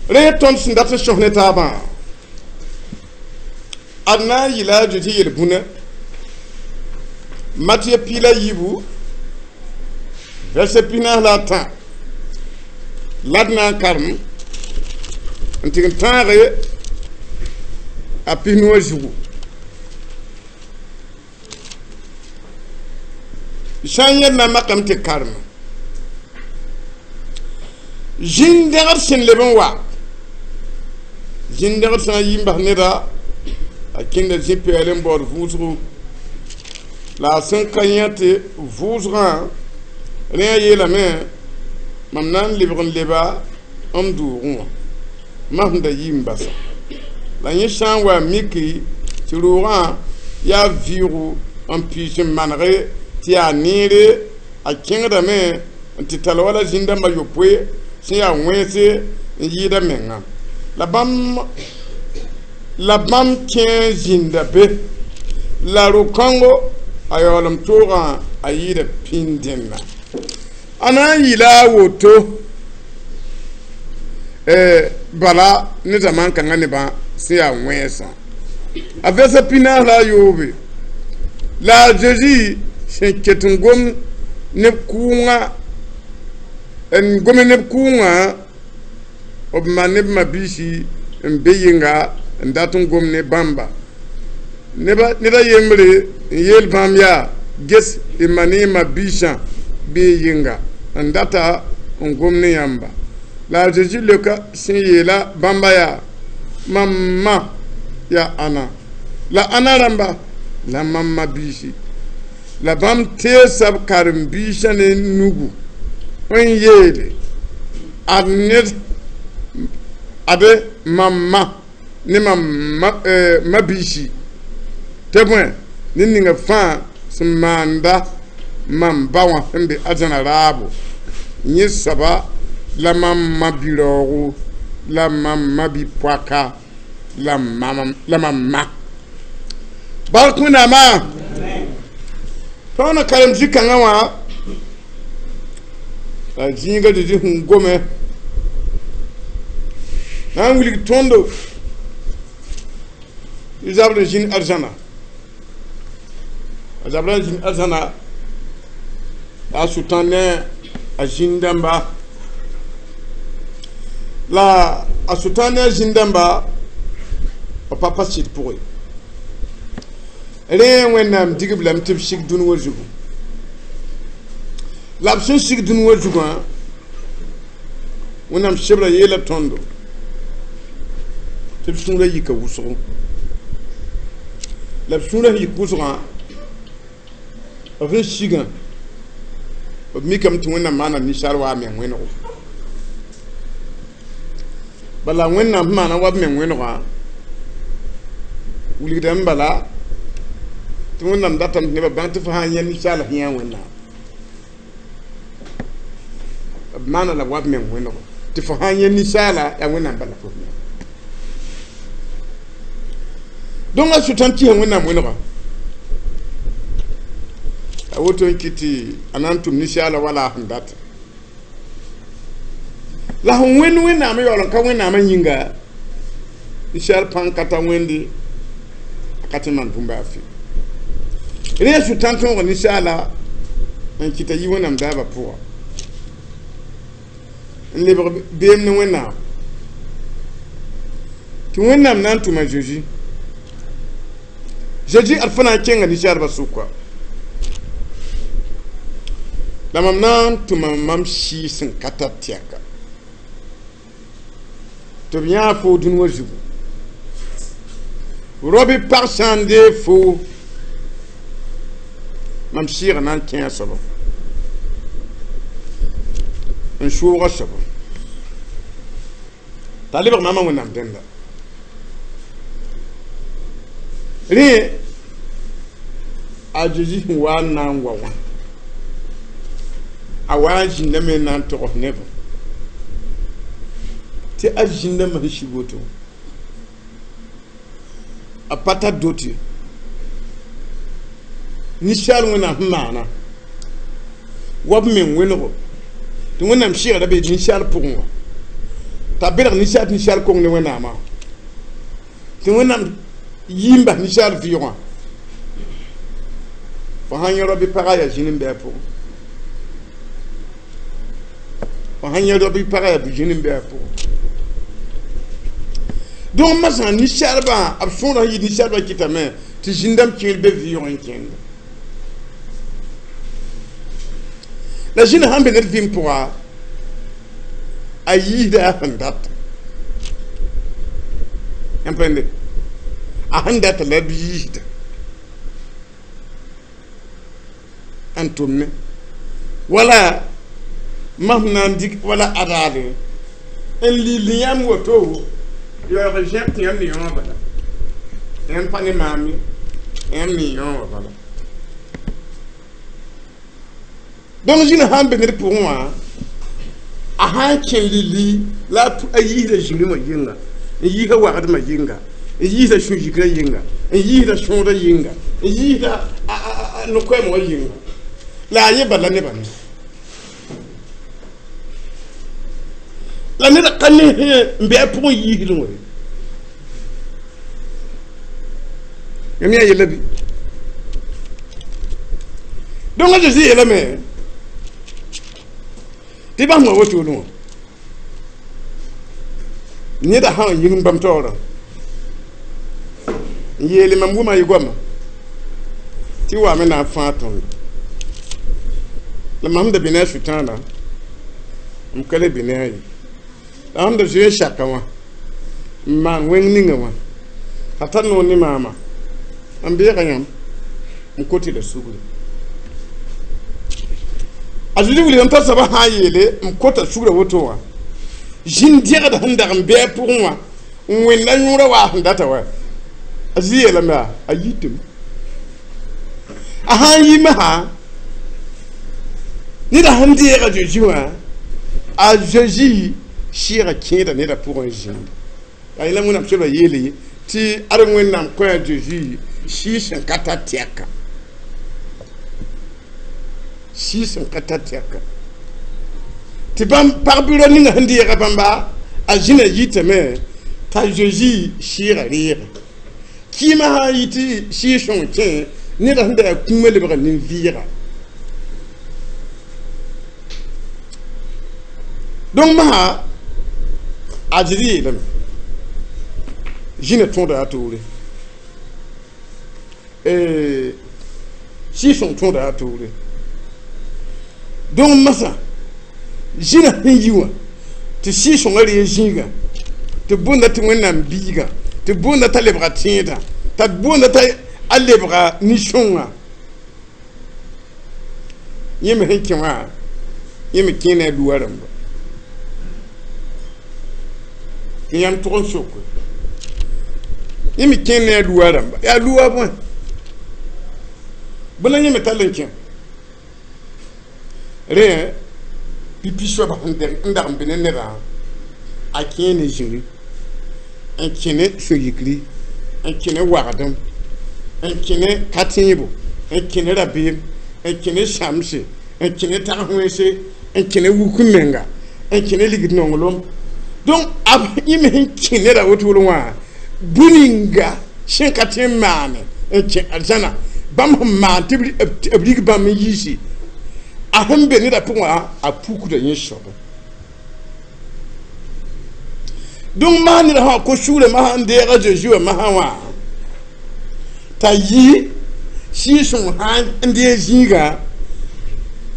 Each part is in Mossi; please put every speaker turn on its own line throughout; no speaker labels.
Rẽ tõnd sẽn dat n sõs ne taabã ad na n yɩla a Zezi yel-bũna Matiye 14 verset 43 la d na n karem n tɩg n tãage a 90 zugu sã n yẽd na n makame tɩ karem zĩn-dẽgd sẽn leb n wa zĩn-dẽgd sã n yi n bas neda a kẽnda zĩ-pɛɛl n baood vʋʋsgo la a sẽn ka yã tɩ vʋʋsgã rẽ a yeelame mam na n lebg n leba m doogẽ wã mam da yi n basa la yẽ sã n wa miki tɩ roogã yaa vɩʋʋgo n piis n manege tɩ yaa neere a kẽngdame n tɩ tall wala zĩn-dãmba yopoe sẽn yaa wẽnse n yɩɩda menga la bãmb kẽ zĩnda be la ro-kãngo a yaoolem toogã a yɩɩda pĩnd-dẽnna a na n yɩla a woto bala ne zaman kãngã nebã sẽn yaa wẽnsã a vɛsa 43 la a Zezi sẽn ket n gom neb kʋʋngã n gome neb kʋʋngã b ma neb mabiisi n be yɩnga n dat n gom ne bãmba ned a yembre n yeel bãmb yaa ges y ma ne y mabiisã bee yɩnga n data n gom ne yãmba la a Zezi leoka sẽn yeela bãmba yaa mam ma yaa ãna la ãna rãmba la mam mabiisi la bãmb teesa b karen-biisã ne nugu n yeele ad ned ade mam ma ne mam mabiisi tɩ bõe ned ninga fãa sẽn maanda mam ba wã sẽn be arzãna raabo yẽ soaba la mam ma-bi-raoogo la mam ma-bi-poaka la mam ma bark Wẽnnaamã tõnd karem zĩ-kãngã wã la zĩiga Zezi sẽn gome na n wilg tõndo tɩ zabr n zĩnd arzãna a zabra n zĩnd arzãna la a sʋtã ne a zĩn-dãmba la a sʋtã ne a zĩn-dãmba b pa pa sɩd pʋgẽ rẽ Wẽnnaam digb lame tɩ b sig dũni wã zugu la b sẽn sig dũni wã zugã Wẽnnaam sebra yeela tõndo tɩ b sũurã yika wʋsgo la b sũurã sẽn yik wʋsgã b sẽn sigã b mikame tɩ Wẽnnaam maana ninsaal wa a meng wẽnego bala Wẽnnaam sẽn maana wa b meng wẽnegã wilgdame bala tɩ Wẽnnaam datame tɩ nebã bãng tɩ fo sã n yẽ ninsaal sẽn yã Wẽnnaam b maana la wa b meng wẽnego tɩ fo sã n yẽ ninsaala yaa Wẽnnaam bala fo sẽn yã donc a sʋtãn kɩsa Wẽnnaam wẽnega a woto n kɩ tɩ a na n tʋm ninsaala wala a sẽn data la sẽn wẽnd Wẽnnaam yaool n ka Wẽnnaamã yĩnga ninsaal pãng ka ta wẽnde a ka tɩ maan bũmb a fɩ rẽ sʋtãn tõog ninsaala n kɩta yi Wẽnnaam daabã pʋga n lebg beem ne Wẽnnaam tɩ Wẽnnaam na n tʋma Zezi Zezi ad fo na n kẽnga ninsaalbã sʋka la mam na n tʋma mam sɩɩg sẽn ka tar tɛka tɩ b yãa foo dũni wã zugu robi pag sã n deeg foo mam sɩɩgã na n kẽ a soaba n soog a soaba t'a lebg maamã Wẽnnaam dẽnda rẽ a Zezi sẽn wa n na n wa wã a wa n zĩndame n na n togs nebã tɩ a zĩndãmbã sẽn sig woto a pa tar dot ye ninsaal Wẽnnaam sẽn maana wa b meng wẽnego tɩ Wẽnnaam sɩgra be ninsaal pʋgẽ wã T'a belg ninsaal ninsaal kong ne Wẽnnaamã tɩ Wẽnnaam yii n bas ninsaal vɩʋgã fo sãn yẽ rao bɩ pagã yaa zĩn n bɩ a pʋgẽ fo sãn yẽ rao bɩ pagã yaa zĩn n bɩ a pʋgẽ donc masã ninsaalbã b sõorã yɩ ninsaalbã kɩtame tɩ zĩndame kẽer be vɩʋg n kẽnda la zĩna sãn be ned vɩɩm pʋga a yiisda a sẽn data yãmb pẽnde a sẽn data la b yiisda n tʋmme wala mam na n dɩk wala adaale n lil yãmb woto yaoog zẽb tɩ yãmb ne yõo bala yãmb pa ne maam ye yãmb ne yõo wã bala donc zĩna sãn be ned pʋgẽ wã a sãn kẽ lili la a yiisda zĩri wã yɩnga n yiisda wagdmã yɩnga n yiisda sũ-yikrã yɩnga n yiisda sõoda yɩnga n yiisda no-koɛɛm wã yɩnga la a yẽ bala nebã ne la ned ka ne n bɩ a pʋgẽ yiisdẽ wã yãmb yaa yella bɩ donc a Zeezi yeelame tɩ bãmb wã wotone wã neda sã n yĩng bãmb taoorã n yeele mam wʋma y goama tɩ waame na n fãag tõndo la mam da bɩ ne a sʋtãana m ka le bɩ ne a ye la sẽn da zoe n saka wã n maan wẽng ninga wã a tar noor ne maama n beega yãmb n kot la sugri a Zeezi wilgame t'a soabã sã n yeele n kota sugrã woto wã zĩn dẽgd sẽn dag n bɩ a pʋgẽ wã n wẽnda yõorã waa sẽn data wa a Zeezi yeelame a yitame a sã n yi masã neda sẽn deega Zeezi wã a Zeezi sɩɩga kẽeda neda pʋgẽ zĩnda la yẽla Wẽnnaam soabã yeele tɩ ad Wẽnnaam kõ a Zeezi sɩɩ sẽn ka tar tɛka sɩɩ sẽn ka tar tɛka tɩ bãmb pag-bɩrã ninga sẽn deega bãmba a zĩna yitame t'a Zeezi sɩɩga reega kɩɩmã sã n yɩ tɩ sɩɩ sõng kẽ neda sẽn da yaa kũumã lebga nin-vɩɩga donc masã a Zeezi yeelame zĩna tõoda a toore sɩɩ sõng tõoda a toore donc masã zĩna sẽn yi wã tɩ sɩɩ sõngã ree zĩigã tɩ boonda tɩ Wẽnnaam biiga tɩ boonda t'a lebga tẽedã t'a boonda t'a a lebga nin-sõngã yẽ me sẽn kẽ wã yẽ me kẽ ne a luwa rãmba tɩ yãmb tʋg n soke yẽ me kẽ ne a luwa rãmba yaa luwa bõe bõe la yẽ me tall n kẽ rẽ pipi soabã n dag n be ne nedã a kẽ ne zĩri n kẽ ne sũ-yikri n kẽ ne wagdem n kẽ ne ka-tẽebo n kẽ ne rabeem n kẽ ne sãmse n kẽ ne tag-wẽnse n kẽ ne wuk n menga n kẽ ne ligd nonglem donc yẽ me sẽn kẽ neda wotoro wã bũn-ninga sẽn ka tẽ n maane n kẽ arzãna bãmb sẽn maan tɩ b rig bãmb n yiisi a sẽn be neda pʋgẽ wã a pukda yẽ soabã donc masã neda sã ko sugre masã n deeg a Zeezi wã masã wã t'a yi sɩɩ sõng sã n deeg zĩigã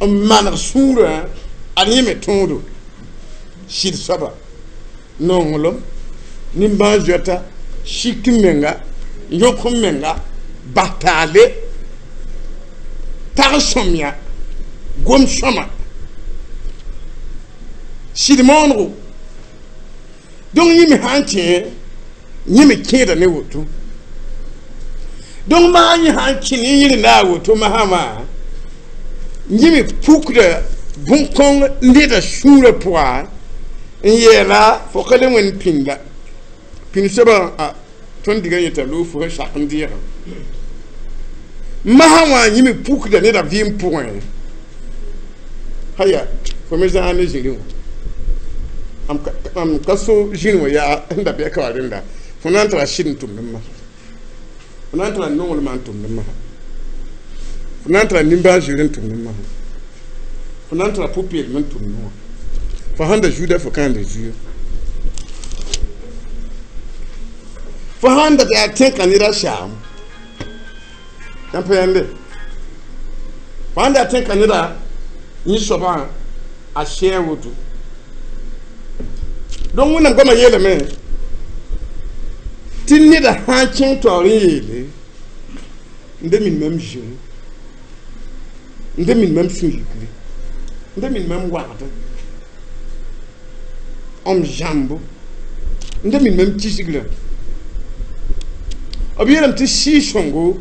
n maneg sũurã ad yẽ me tõodo sɩd soaba nonglem nimbãan-zoeta sik n menga yõk n menga bas taale tag sõmya gom sõma sɩd moonego donc yẽ me sã n kẽ yẽ me kẽeda ne woto donc maa yẽ sã n kẽ ne yẽrenda a woto masã wã yẽ me pukda bõn-kõng neda sũurã pʋga n yeela fo ka le wẽnd pĩnda pĩnd soabã tõnd diga yeta loog fo sẽn sak n deegã masã wã yẽ me pukda neda vɩɩm pʋgẽ haya fo me zãag ne zĩri wã Am ka so zĩn wã yaa n da bɩ ka wa rẽnda fo na n tara sɩd n tʋmd n masa fo na n tara nonglmã n tʋmd n masa fo na n tara nimbãan-zoeer n tʋmd n masa fo na n tara pʋ-peelem n tʋmd wã fo sãn da zuuda fo kãanda zuya fo sãn da yaa tẽka ned a saam yãmb pa yãmbe fo sãn da yaa tẽka neda yẽ soabã a sɛɛ woto donc wẽnnaam goamã yeelame tɩ neda sãn kẽng taoor n yeele n da min mam zĩri n da min mam sũ-yikre n da min mam wagdẽ m zãmbo n da min mam kisgrã b yeelame tɩ sɩɩg-sõngo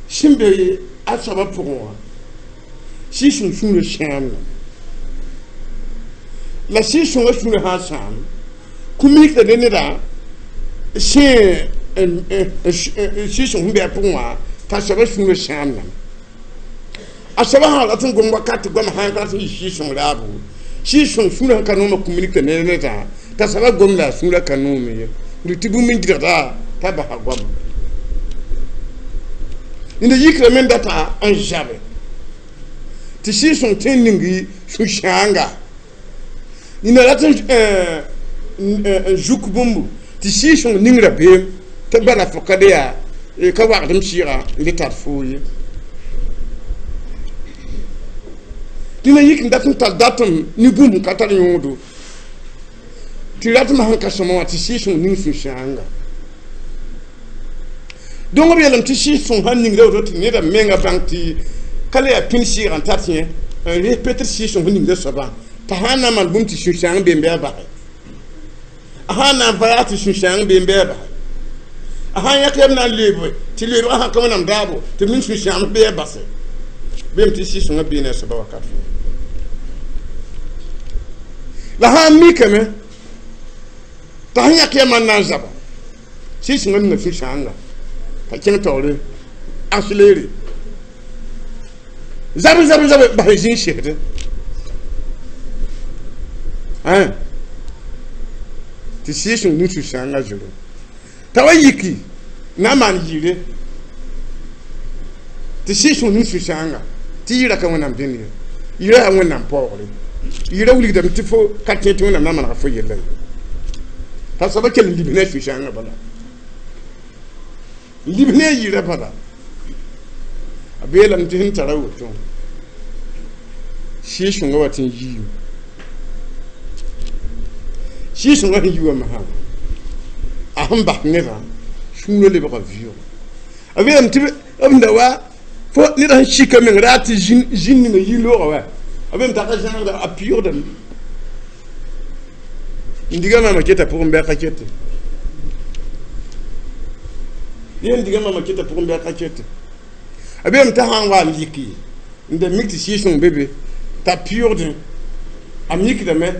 sẽn be a soabã pʋgẽ wã sɩɩg-sõng sũurã sãamda la sɩɩg-sõngã sũurã sã n sãam kũ-mikda ne neda sẽn sɩɩg-sõng sẽn be a pʋgẽ wã t'a soabã sũurã sãamdame a soabã sã rat n gom wakat goamã sã n rat n yɩ sɩɩg-sõng raabo sɩɩg-sõng sũurã sẽn ka noomã kũ-mikda ne nedã t'a soabã gom la a sũurã ka noome ye tɩ bũmb n gɩdgda t'a basa goama neda yikrame n data n zabe tɩ sɩɩg-sõng tõe n ning sũ-sãanga nina rat n zuk bũmbu tɩ sɩɩg-sõng ning rabeem tɩ bala fo ka le yaa ka wagdem sɩɩga n le tar foo ye tɩ na yik n dat n tar datem ne bũmb n ka tar yõodo tɩ ratmã sẽn ka sõma wã tɩ sɩɩg-sõng ning sũ-sãanga donc b yeelame tɩ sɩɩg-sõng sãn ningda woto tɩ neda menga bãng tɩ ka le yaa pĩnd sɩɩgã n tar yẽ n res peut-être sɩɩg-sõng sẽn ningda soabã t'a sãn na n maan bũmb tɩ sũ-sãang be n bɩ a basɛ a sãn na n va yaa tɩ sũ-sãang be n bɩ a basɛ a sãn yãk yam na n leebe tɩ leebgã sãn ka wẽnnaam daabo tɩ b ning sũ-sãamd bɩ a basɛ bem tɩ sɩɩg-sõngã bee ne a soabã wakat fãa la sãn mikame t'a sẽn yãk yamã n na n zaba sɩɩg-sõngã ninga sũ-sãanga t'a kẽng taoore accéléré zabe zabe zabe bas zĩig sesdẽ tɩ sɩɩg-sõng ning sũ-sãangã zoro t'a wa yiki na n maan yɩɩre tɩ sɩɩg-sõng ning sũ-sãanga tɩ yɩɩra ka wẽnnaam dẽnd ye yɩɩra yaa wẽnnaam paoogre yɩɩra wilgdame tɩ fo ka tẽ tɩ wẽnnaam na n manega fo yella ye t'a soaba kell n libs ne a sũ-sãangã bala n libs ne a yɩɩra bala a beelame tɩ sẽn tara woto sɩɩg-sõngã wa tɩ n yiime sɩɩg-sõngã sẽn yi wã masã a sẽn bas nedã sũurã lebga vɩʋʋg a beelame tɩ b da wa fo ned sẽn sika meng raa tɩ zĩn ninga yi loogã wa a beelame t'a ka zãagda a pɩʋʋgdame n diga maama keta pʋgẽ bɩ a ka kete ye n diga maama keta pʋgẽ bɩ a ka kete a beelame t'a sãn wa n yiki n da mik tɩ sɩɩg-sõng be be t'a pɩʋʋgdẽ a mikdame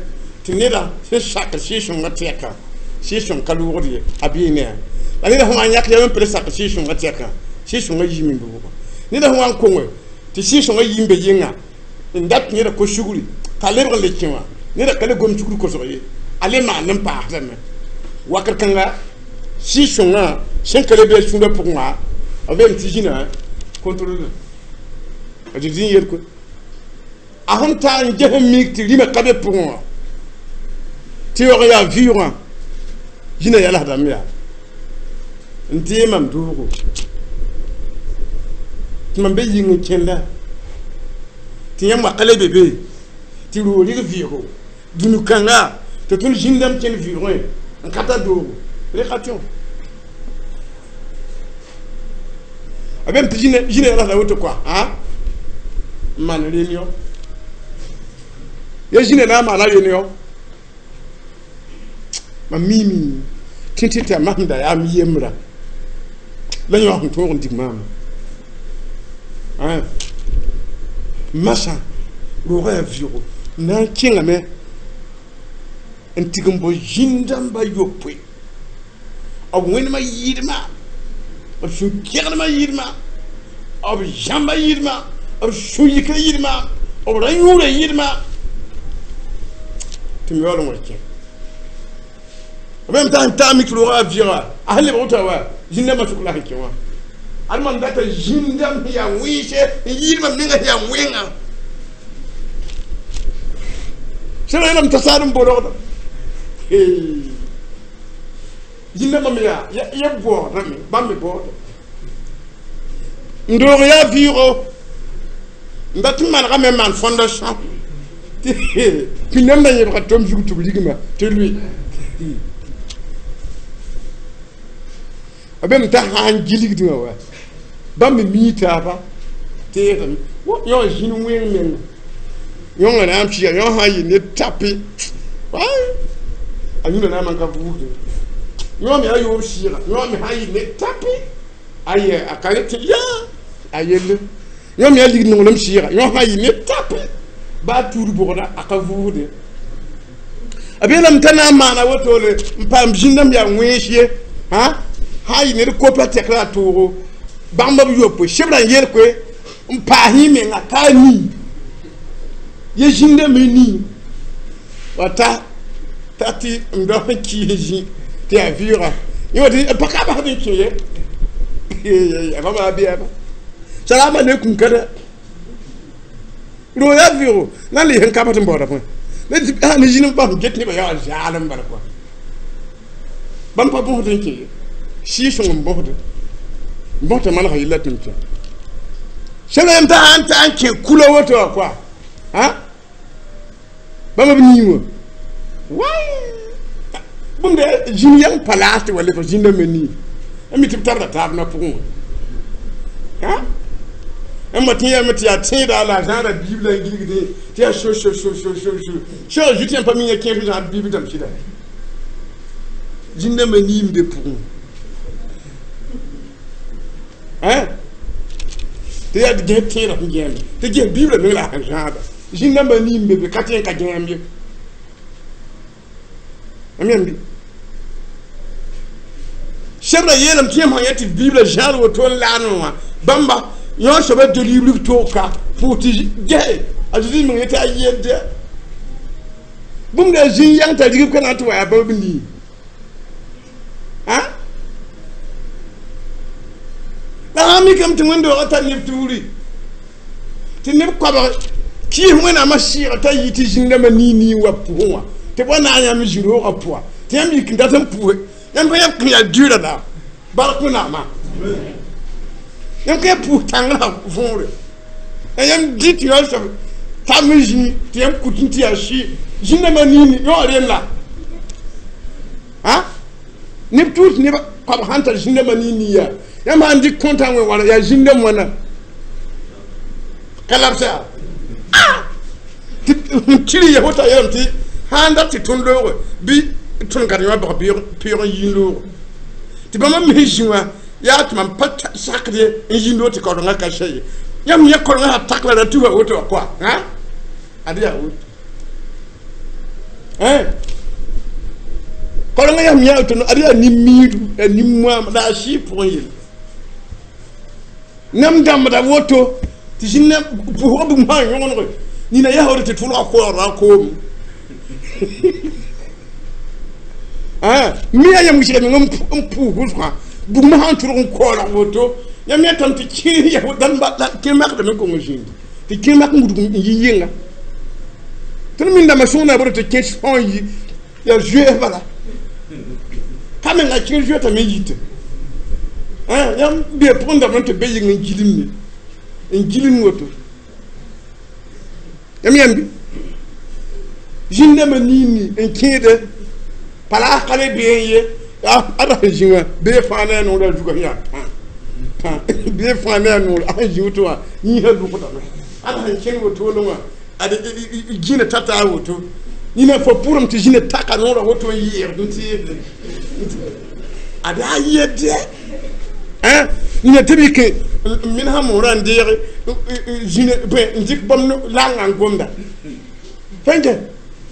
tɩ neda sẽn sak sɩɩg-sõngã tɛka sɩɩg-sõng ka loogd ye a bee ne a la neda sẽn wa n yãk yam n pd sak sɩɩg-sõngã tɛka sɩɩg-sõngã yiime n looga neda sẽn wa n konge tɩ sɩɩg-sõngã yi n be yɩnga n dat neda ko-sugri t'a lebg n le kẽ wã neda ka le gom sugr kosg ye a le maan n paasdame wakr kãnga sɩɩg-sõngã sẽn ka le be a sũurã pʋgẽ wã b beem tɩ zĩna contrôle a zĩ n yel koe a sẽn tar n ges n mik tɩ rĩmã ka be pʋgẽ wã tɩ yaoog n yaa vɩʋʋgã zĩna yalsdame yaa n dee mam doogo tɩ mam be yĩng n kẽnda tɩ yãmb wa ka le be be tɩ roog rɩg vɩʋʋgo dũni-kãnga tɩ tõnd zĩndame kẽnd vɩʋʋgẽ n ka tar doogo rẽ ka tõe a beem tɩ zĩna yalsda woto koa n maan réunion ya zĩna na n maana réunion mam miime tɩ tɩ tɩ a masẽmda yaa m yembra la yõ sẽn tõog n dig maama masã roogã yaa vɩʋʋgo na n kẽngame n tig n bo zĩn-dãmba yopoe b wẽnemã yɩɩdmã b sũ-kɛgdmã yɩɩdmã b zãmbã yɩɩdmã b sũ-yikã yɩɩdmã b ra yũurã yɩɩdmã tɩ m yaool n wa kẽ b t'a n taa mik roogã a vɩga a sẽn lebg wota wa zĩn-dãmbã sʋk la sẽn kẽ wã ad mam data zĩn-dãmb sẽn yaa wẽnse n yɩɩd mam menga sẽn yaa wẽnga sẽn yeelame t'a saad n bolgda zĩn-dãmbã me yaa ya baoodame bãmb me baooda n doog yaa vɩɩgo n dat n manegame n maan fondation tɩ pĩndãmbã yẽbga tom zug tɩ b rigma tɩ lʋɩ b me t'a sã n gilgdẽ wã wa bãmb me mii taaba teegame yõ zĩn wẽng menga yõngã na n pɩɩga yõ sã n yɩ ne tape a yũnda na n man ka buusdẽ yõ me a yoob sɩɩga yõ me sã n yɩ ne tape a yɛ a ka tɩ yaa a yelle yõ me a lig nonglem sɩɩga yõ sã n yɩ ne tape baa tuud bʋgda a ka vuusde b yeelame t'a na n maana wotole n paam zĩndãmb yaa wẽns ye sã n yɩ ned kopa tɛk la a toogo bãmb b yopoe sebra n yel koe n paas yẽ menga ka a nii ye zĩndãmb n nii wa ta tɩ m da sẽn kɩɩs zĩ tɩ yaa vɩɩga yẽ wa tɩ pa ka basd n kẽ ye a bãmba a beaba salaama aleykum kada roog yaa vɩɩgo na n le sẽn ka bas n baooda pʋgẽ ne zĩnd n bas n get nebã yaa zaalem bala kɔa bãmb pa bõsd n kẽ ye sɩɩ-sõng n bõsd n bõsd manega yella tɩ m kẽ sẽn yam t'a sãn ta n kẽ kula woto wã kɔa bãmb b nii wã wai bũmb zĩn yãng pa laas tɩ wa lebg zĩndãmbã nii n mi tɩ b tarda taab na pʋgẽ wã n ma tɩ yame tɩ yaa tẽeda la a zãada biibla n gilgdẽ tɩ yaa so so so so so so sẽn zut yãmb pa mi yã kẽes zãad biib dãmb sɩda zĩndãmbã nii n be pʋgẽ tɩ yaa gẽs tẽedã sẽn gẽeme tɩ ges biibla meng la a sẽn zãada zĩndãmbã nii n be be ka tẽ n ka gẽem ye m yãmb sebra yeelame tɩ yãmb sã yã tɩ biibla zãad woto n laanẽ wã bãmba yõ soaba dolibl toog ka pʋʋs tɩ gese a Zeezi meng yetɩ a yelde bũmb la zĩn yãng t'a rigb ka na n tɩ wa yaa bãmb nii la sã n mikame tɩ wẽnd-doogã tar neb tuuri tɩ neb koabg kɩɩs wẽnnaamã sɩɩga t'a yɩ tɩ zĩn-dãmbã nii nii wa pʋgẽ wã tɩ b wa na n yãmb zĩ-roogã pʋga tɩ yãmb yik n dat n pʋʋse yãmb ka yãmb kẽ yaa dɩɩra la bark wẽnnaamã yãmb ka yã pʋʋs tãngrã võore la yãmb dɩ tɩ yõ soab tam n zĩ tɩ yãmb kut n tɩ yaa sɩ zĩn-dãmbã nii ni yõ rem la neb tuus neb koabg sãn tar zĩn-dãmbã nii nii yaa yãmb sãn dɩk kõntã wẽ wãna yaa zĩn-dãmb wãna ka labsa tɩ tɩr ya wota yeelame tɩ sãn dat tɩ tõnd looge bɩ tõnd ka yõ bag pɩʋg n yĩn loogo tɩ bãmb mis zĩ wã yaa tɩ mam pa sakd ye n yĩn loog tɩ kaoodengã ka sɛ ye yãmb yã kaoodengã sã tak la ra tufa woto wã koa ad yaa woto kaoodengã yãmb yã woto ad yaa nin-miidu yaa nin-moam la a sɩɩ pʋgẽ yelle nam dãmbda woto tɩ zĩnã pʋsgã bũmb sã n yõgenege nina yaa woto tɩ tʋlga koɔɔrã koom mi yaa yãmb wɩsga meng n pʋʋs wʋsgã bugmã sã n tʋlg n koɔlg woto yãmb yãtame tɩ kẽer makdame n kong zĩndi tɩ kẽer mak n wudg n yɩ yɩnga tõnd min dãmbã sõng na a tɩ kẽ são n yi yaa zoees bala ka menga kẽer zoetame n yite yãmb bee pʋgẽ dame tɩ be yɩng n gilimne n gilim woto yãmb yãmbi zĩn-dãmbã nii nii n kẽede palaas ka le bee n ye a ra sẽn zĩ wã bee fãa ne a noor a zugã sẽn yaa tã tã bee fãa ne a noor a sẽn zĩ woto wã yĩnsã lʋgdame a ra sẽn kẽng wotone wã ad gĩna tata a woto nina fo pʋrem tɩ zĩna taka noorã woto n yɩɩgd n tɩ ad a yedde nina tɩ b yik n minsã moorã n deege zĩna n dɩk bãmb langa n gomda fẽnke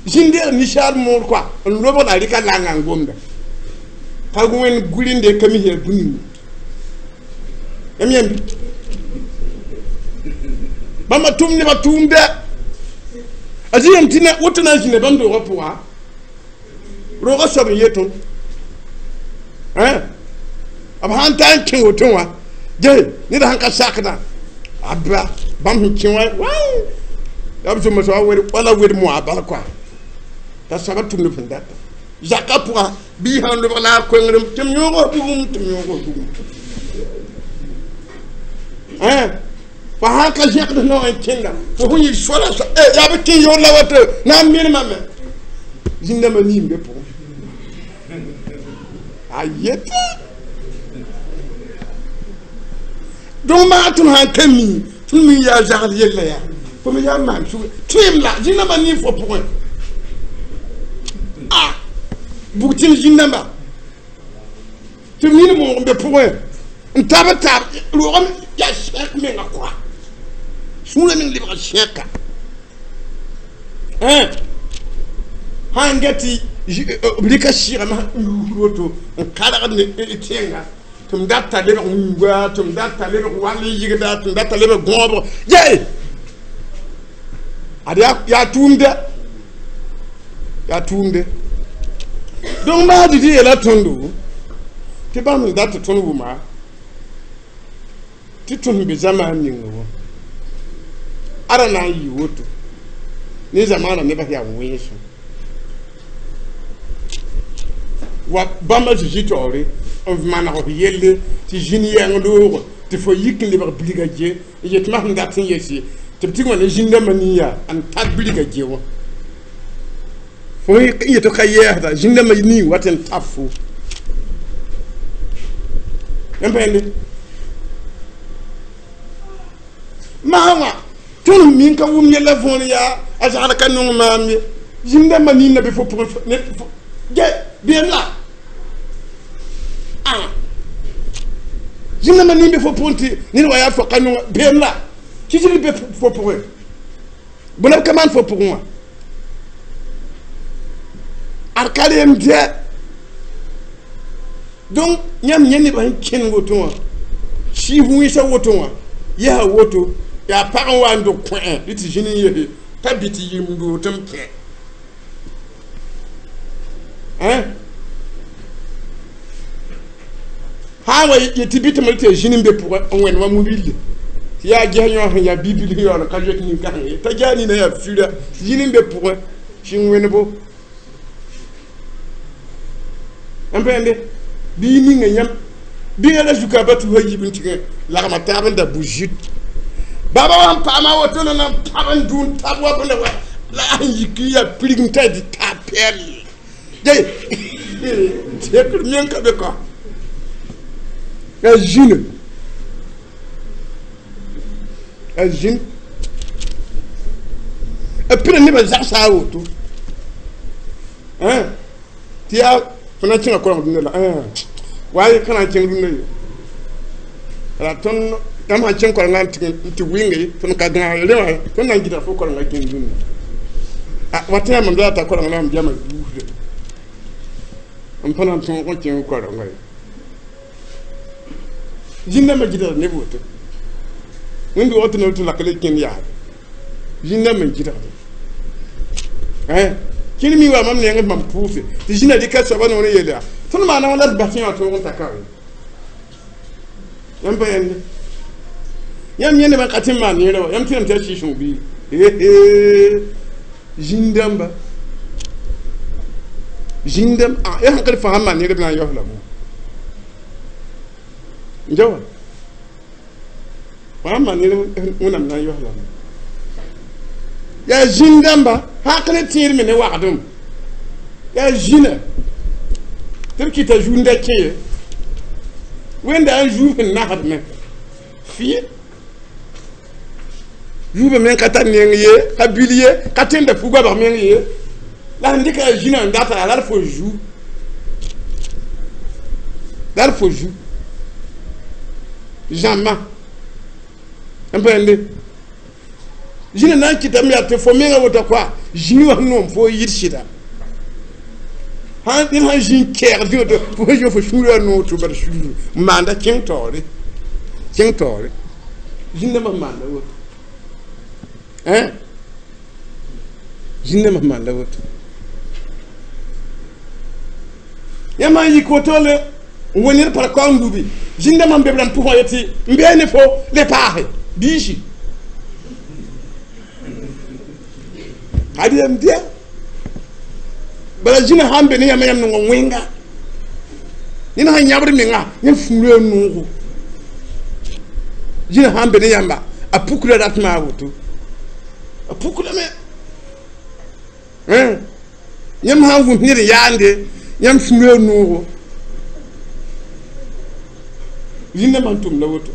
zĩn-deeg ninsaal moor kɔa n lobg la a rɩka langa n gomda pa wẽnd gurinde ka mis yaa bũni yãmb yãmbi bãmba tʋm nebã tʋʋmdɛ a zĩ yam tɩ woto na n zĩnda bãmb doogã pʋga Roogã soab n yetõ b sãn ta n kẽ woto wã ge ned sãn ka sakdã abba bãmb sẽn kẽ wã la b zombã soaba wala wed moa bal koa t'a soaba tʋmd b sẽn data zakã pʋga bɩ sãn lobg la a koengrem tɩ m yõog bugum tɩ m yõog bugum fo sãn ka zẽkd no n kẽnda fo sẽn yɩ sola yaa b kẽ yaoor la wato na n mirmame zĩn-dãmbã niim be pʋgẽ a yeta donc maa tõnd sãn ka mi tõnd mi yaa zagl yella yaa fo me yaa maan sug tõem la zĩn-dãmbã nin fo pʋgẽ a bug tɩm zĩn-dãmba tɩ b nin moog n be pʋgẽ n tab n taab roogame yaa sẽk menga koa sũurã meng lebga sẽka sãn get tɩ b rɩka sɩɩgame n yuusd woto n kargd ne tẽnga tɩ m data lebg wĩnga tɩ m data lebg wall n yɩgda tɩ m data lebg gõobg ye ad yaa tʋʋmdɛ yaa tʋʋmde donc maa dɩ tɩ yeela tõndo tɩ bãmb n dat tɩ tõnd wʋma tɩ tõnd be zamaan ninga wã ara na n yɩ woto ne zamaanã nebã yaa wẽnsem wa bãmba zĩ taoore n maneg f yelle tɩ zĩn yɛng loogo tɩ fo yik n lebg bilga ge n yet ma sẽn dat n yese tɩ b tɩ wã ne zĩn-dãmbã nin-yaa n tar bilga ge wã fo n yet ka yɛɛsda zĩn-dãmbã nin wat n tab fo n pẽnde maa wã tõnd min ka wʋm yɛla võor yaa a zagd ka nong maam ye zĩn-dãmbã nin na be fo pʋgẽ ge beem la zĩn-dãmbã nin be fo pʋgẽ tɩ ned wa yaa fo ka nonga beem la kisg be fo pʋgẽ bõe la b ka maan fo pʋgẽ wã ad ka reem dɛ donc yãmb yẽ nebã sẽn kẽnd woto wã sɩɩs wĩnsã woto wã yɛsa woto yaa pag n wa n dog kõ-ẽ dɩ tɩ zĩn n yese t'a bɩ tɩ yɩm doo tɩ m kẽ sã n wa yetɩ bɩ tɩ m tɩ zĩn n be pʋgẽ n wẽnd wa mu-bille tɩ yaa ges yõ sẽn yaa bi-bil sẽn yaool n ka zoet nin-kãseng ye t'a ges nina yaa fira zĩn n be pʋgẽ sẽn wẽndbo n pẽnde bɩ y ninga yãmb bɩ la zuka ba tʋ yib n tɩgẽ lagma taab n da bu-zit baba wa n paama woto la na n pãb n dũ n tab wa bõnda wa la a n yik n yaa pirig n ta dɩ taab pɛɛl ye tekr meng ka be kɔ yaa zĩne yaa zĩn b pida nebã zagsa a woto tɩ yaa fo na n kẽnga koreeng dũnna la wa ka na n kẽng dũnna ye la tõnd yãmb sãn kẽng korenga n tɩ wɩnge tõnd ka gãag rẽ wã tõnd na n gɩdg fo korenga kẽng dũnna wa tɩ yãmb m la t'a korenga la m biama yuusde n pa na n tõog n kẽng korenga ye zĩn-dãmbã gɩdgd neb woto wẽnd-doog tɩ neb tɩ lak le kẽnd yaade zĩn-dãmbã n gɩdgde kẽnd mi wa mam neng mam pʋʋse tɩ zĩnã rɩka soaba noor n yeel yaa tõnd maana wã la d bas yã wã tõog n ta ka yãmb pa yẽnde yãmb yẽ nebã ka tɩ n maan neerã wa yãmb tɩ tɩ yaa sɩɩ-sõng bii zĩn-dãmba zĩn-dãmb ya sãn ka d fãa sãn maan neer b na n yaoos lame n ja wa fãa maan neer wẽnnaam na n yaoos lame yaa zĩn-dãmba hak ne tẽed me ne wagdem yaa zĩnã tɩ b kɩta zũnda kẽ ye wẽnda n zuub sẽn nasdme fɩ zuubã meng ka tar neng ye ka bil ye ka tẽnda fu-goabg meng ye la sẽn dɩka yaa zĩnã n data yaa la d fo zu la d fo zu zãmbã n pẽnde zĩnã na n kɩtame yaa tɩ fo menga woto koa zĩig wã sẽn noom fo yɩd sɩda ned sãn zĩ n kɛɛg zĩ woto fo sẽn zĩ fo sũurã noog tɩ bar sũur n maanda kẽng taoore kẽng taoore zĩn-dãmbã sẽn maanda woto zĩn-dãmbã sẽn maanda woto Yãmb n yik woto le n wa ned pa kaoong lubi zĩndãmbã n be b rãmb pʋgã yetɩ n bee ne fo le paase biisi ad yam dɩa bala zĩna sãn be ne yãmb yãmb nongo wẽnga ned sãn yãbd menga yãmb sũurã noogo zĩna sãn be ne yãmba a pukra rat maa woto a pukrame yãmb sãn wʋs ned n yaande yãmb sũurã noogo zĩndãmbã n tʋmda woto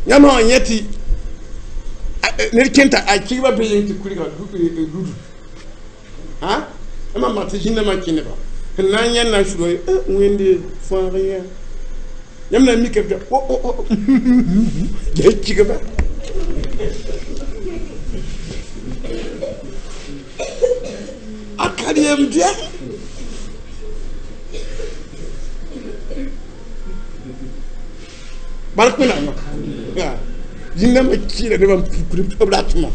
yãmb sã n yẽ tɩ ned kẽnta a kɩgba be yeng tɩ kurga ludu yãmb mak tɩ zĩndãmbã kẽneba sẽn na n yẽnd na n sʋda wẽnde fãag yã yãmb na n mika b ges kɩgba a ka yem dɩa bark wẽnnaamã zĩndãmbã kɩɩla nebã n pukd b ratmã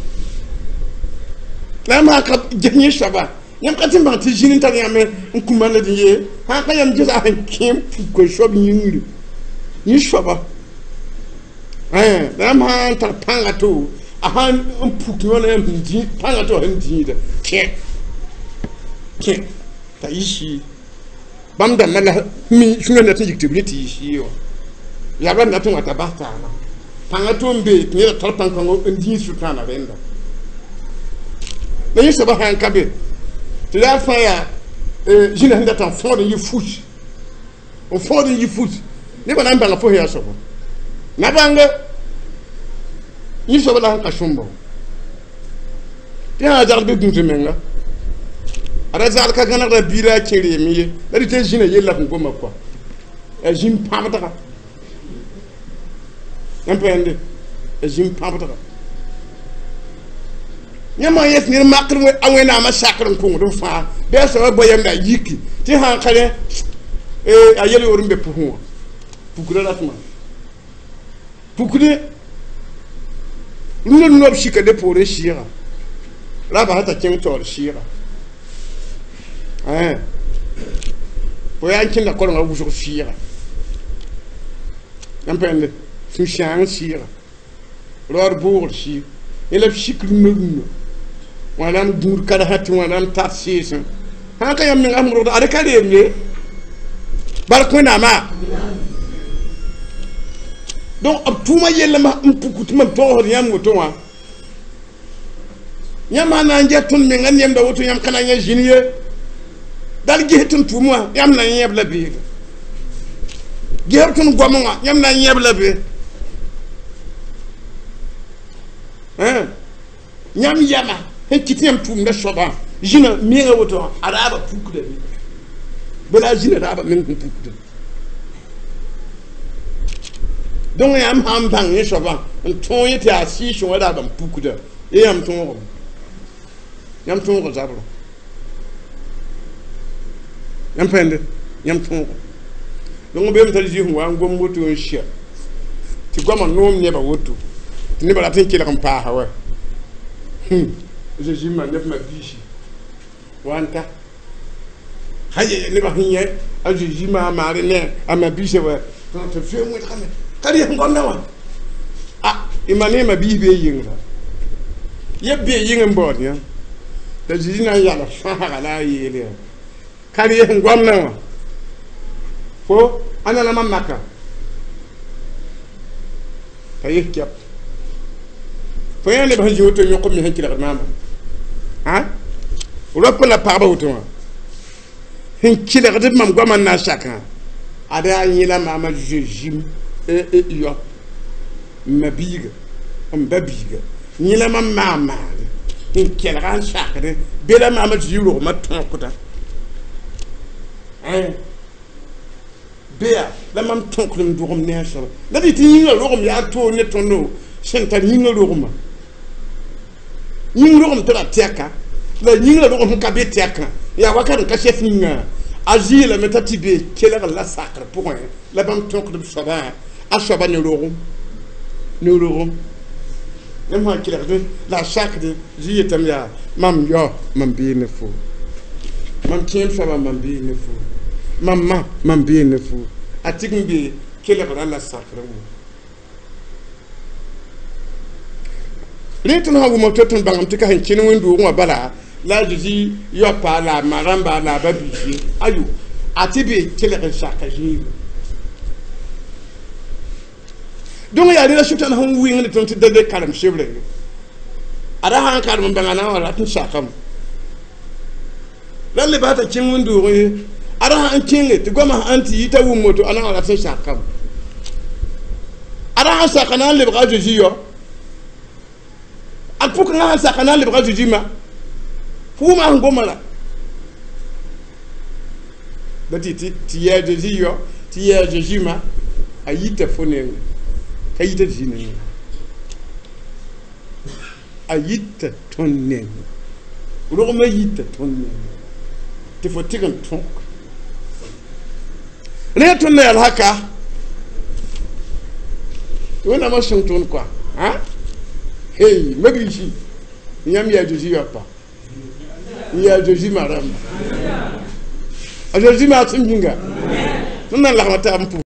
la yãmb sã ka ges yẽ soaba yãmb ka tɩ n bãng tɩ zĩn n tar yãmb n kũmã la dẽ ye sã ka yãmb gesa sẽn kẽ n puka soab yĩngri yẽ soaba la yãmb sã n tar pãnga to a sã n puk yõ la yãmb sẽn dĩ pãnga to sẽn dĩida kẽ kẽ t'a yɩ sɩɩ bãmb dãmbã la mi sũurã dat n yik tɩ b rẽ tɩ yɩ sɩɩ wã yabra n dat n wa t'a bas taaba pãnga to n be tɩ neda tar pãn-kãngɔ n dĩig sʋtãana rẽnda la yẽ soaba sã n ka be tɩ yaa fãa yaa zĩna sẽn datã n fõod n yɩ fus n fõod n yɩ fus nebã na n bãnga fo sẽn yaa soaba na bãnga yẽ soaba la sẽn ka sõmba tɩ sã n zagd be gũus menga a ra zagd ka gãnegda biirã a kẽ reem ye la dɩ tɩ zĩna yella sẽn goma kɔa a zĩm pãbdga yãmb pa yãnde a zĩm pãbdga yãmb sã yet ned makr a wẽnnaamã sakr n kõngd b fãa bɩ a soaba bao yamda a yiki tɩ sã n ka rẽ a yel-yoor n be pʋgẽ wã pukra ratmã pukdẽ rũndã rũndã b sika le poorẽ sɩɩga ra basa t'a kẽng taoor sɩɩga fo yaa n kẽnda korengã wʋsg sɩɩga yãmb pa yãnde sũ-sãang sɩɩga raood boogr sɩɩg yẽ la b sik rũndã rũndã wãnaam gũud karsã tɩ wãnaam tar sɩɩsẽ sã n ka yãmb menga sẽn rogda ad ka reem ye bark wẽnnaamã donc b tʋʋmã yellame n puk tɩ mam togsd yãmb woto wã yãmb sã na n get tõnd menga nemda woto yãmb ka na n yẽ zĩn ye dal ges tõnd tʋʋm wã yãmb na n yẽb la beele gesb tõnd goamẽ wã yãmb na n yẽb la be yãmb yama sẽn kɩt yãmb tʋʋmda soabã zĩna menga woto wã a raaba pukda be bala a zĩna raaba meng sẽn pukda donc yãmb sã n bãng yẽ soabã n tõog yẽ tɩ yaa sɩɩsẽ wã raaba n pukda ye yãmb tõogame yãmb tõoga zabrã yãmb pa yẽnde yãmb tõoga donc beem t'a zĩ sẽn wa n gom woto n sɛ tɩ goamã noom nebã woto tɩ nebã rat n kelg n paasa wa Zezi ma neb ma biisi wa n ta sã nebã sẽn yẽ a Zezi maa maare ne a ma biisã wa tɩ b zoe wẽdgame ka rɩs gomdã wã a y ma ne ma biis bee yɩngra yeb bee yɩng n baood yã t'a Zezi na n yals fãsga la a yeel yaa ka rɩs gomdã wã fo a na la mam maka t'a yes kɛp fo yã neb sẽn zĩ woto yõk b me sẽn kelgd maama rap la pagba woto wã sẽn kelgd b mam goamã n na n sakã ad yaa yẽla maama zezim yɔ n ma biiga n ba biiga yẽla mam maa maane n kelga n sakde be la maama tɩ rogmã tõkda beya la mam tõkd n dʋgem ne a soaba la dɩ tɩ yĩngã rogem yaa toor ne tõndo sẽn tar yĩngã rogmã yĩng rogem tɩ ra tɛka la yĩngrã rogem sẽn ka be tɛkã yaa wakat n ka sɛf yĩngã a zɩɩlame t'a tɩ be kelgr la sakr pʋgẽ la bãmb tõkd b soabã a soaba ne rogem yãmb sã n kelgdẽ la a sakde zĩ yetame yaa mam yao mam bee ne fo Mam kẽem soabã, mam bee ne fo. Mam ma, mam bee ne fo. A tɩg n be kelgrã la sakrã wã. Rẽ tõnd sã n wʋma to tõnd bãngame tɩ ka sẽn kẽn wẽnd-doogẽ wã bala la a Zezi yaopa la a ma rãmba la a ba-biis ye. Ayo, a tɩ be kelg n saka zĩigu. Donc yaa rẽ la Sʋtãan sẽn wɩngd tõnd tɩ da le karem sebrã ye. A ra sã n karem n bãng a na n wa rat n sakame. La le baa t'a kẽng wẽnd-doogẽ ye. A ra sã n kẽnge tɩ goamã sãn tɩ yita wʋm woto, a na n wa rat n sakame. A ra sãn saka na n lebga a Zezi yao. A pʋkengã sãn saka na n lebga a Zezi ma. Fo wʋma sẽn goma la. La tɩ tɩ yɛɛ a Zezi yao, tɩ yɛɛ a Zezi ma, a yita fo nengẽ, ka yita Zezi nengẽ. A yita tõnd nengẽ. Rogmã yita tõnd nengẽ. Tɩ fo tɩg n tõk. Rẽ tõnd na yaa haka. Tɩ Wẽnnaamã sõng tõnd koa. Hey, mabiisi, yãmb yaa Zezi yoapa. N yaa Zezi ma rãmba. A Zezi maasem yĩnga. Tõnd na n lagma taab n pʋʋs.